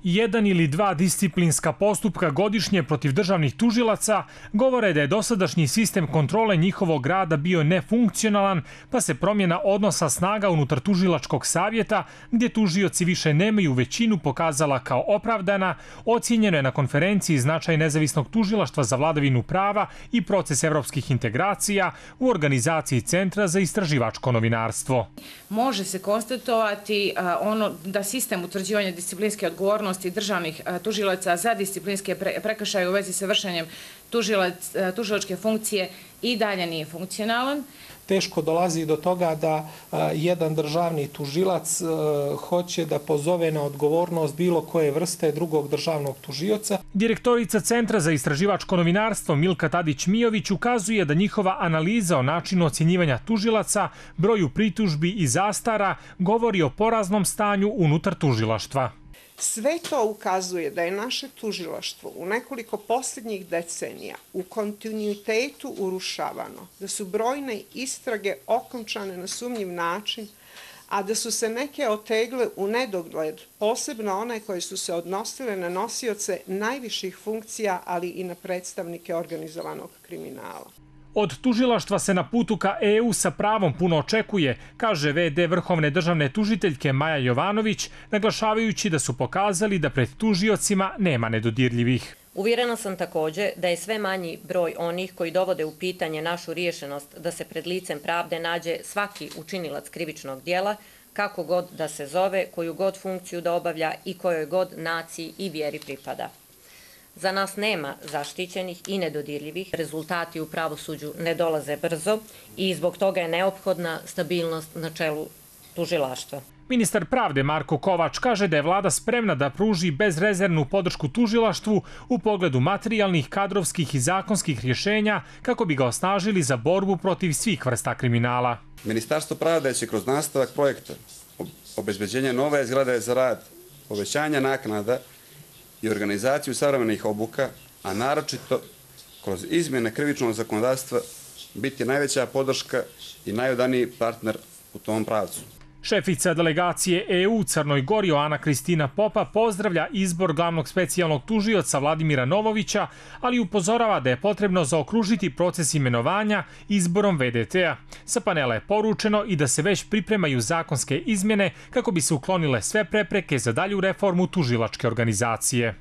Jedan ili dva disciplinska postupka godišnje protiv državnih tužilaca govore da je dosadašnji sistem kontrole njihovog rada bio nefunkcionalan, pa se promjena odnosa snaga unutar tužilačkog savjeta, gdje tužioci više nemaju većinu, pokazala kao opravdana. Ocijenjeno je na konferenciji značaj nezavisnog tužilaštva za vladavinu prava i proces evropskih integracija u organizaciji Centra za istraživačko novinarstvo. Može se konstatovati da sistem utvrđivanja disciplinske odgovornosti državnih tužilaca za disciplinske prekršaje u vezi sa vršenjem tužilačke funkcije i dalje nije funkcionalan. Teško dolazi do toga da jedan državni tužilac hoće da pozove na odgovornost bilo koje vrste drugog državnog tužioca. Direktorica Centra za istraživačko novinarstvo Milka Tadić-Mijović ukazuje da njihova analiza o načinu ocjenjivanja tužilaca, broju pritužbi i zastara govori o poraznom stanju unutar tužilaštva. Sve to ukazuje da je naše tužilaštvo u nekoliko posljednjih decenija u kontinuitetu urušavano, da su brojne istrage okončane na sumnjiv način, a da su se neke otegle u nedogled, posebno one koje su se odnosile na nosioce najviših funkcija, ali i na predstavnike organizovanog kriminala. Od tužilaštva se na putu ka EU sa pravom puno očekuje, kaže VD Vrhovne državne tužiteljke Maja Jovanović, naglašavajući da su pokazali da pred tužiocima nema nedodirljivih. Uvjerena sam također da je sve manji broj onih koji dovode u pitanje našu riješenost da se pred licem pravde nađe svaki učinilac krivičnog djela, kako god da se zove, koju god funkciju da obavlja i kojoj god naciji i vjeri pripada. Za nas nema zaštićenih i nedodirljivih. Rezultati u pravosuđu ne dolaze brzo i zbog toga je neophodna stabilnost na čelu tužilaštva. Ministar pravde Marko Kovač kaže da je vlada spremna da pruži bezrezervnu podršku tužilaštvu u pogledu materijalnih, kadrovskih i zakonskih rješenja kako bi ga osnažili za borbu protiv svih vrsta kriminala. Ministarstvo pravde će kroz nastavak projekta obezbeđenja nove zgrade za rad, povećanja naknada i organizaciju savremenih obuka, a naročito kroz izmjene krivičnog zakonodavstva biti najveća podrška i najodaniji partner u tom pravcu. Šefica delegacije EU u Crnoj Gori Ana Kristina Popa pozdravlja izbor glavnog specijalnog tužioca Vladimira Novovića, ali upozorava da je potrebno zaokružiti proces imenovanja izborom VDT-a. Sa panela je poručeno i da se već pripremaju zakonske izmjene kako bi se uklonile sve prepreke za dalju reformu tužilačke organizacije.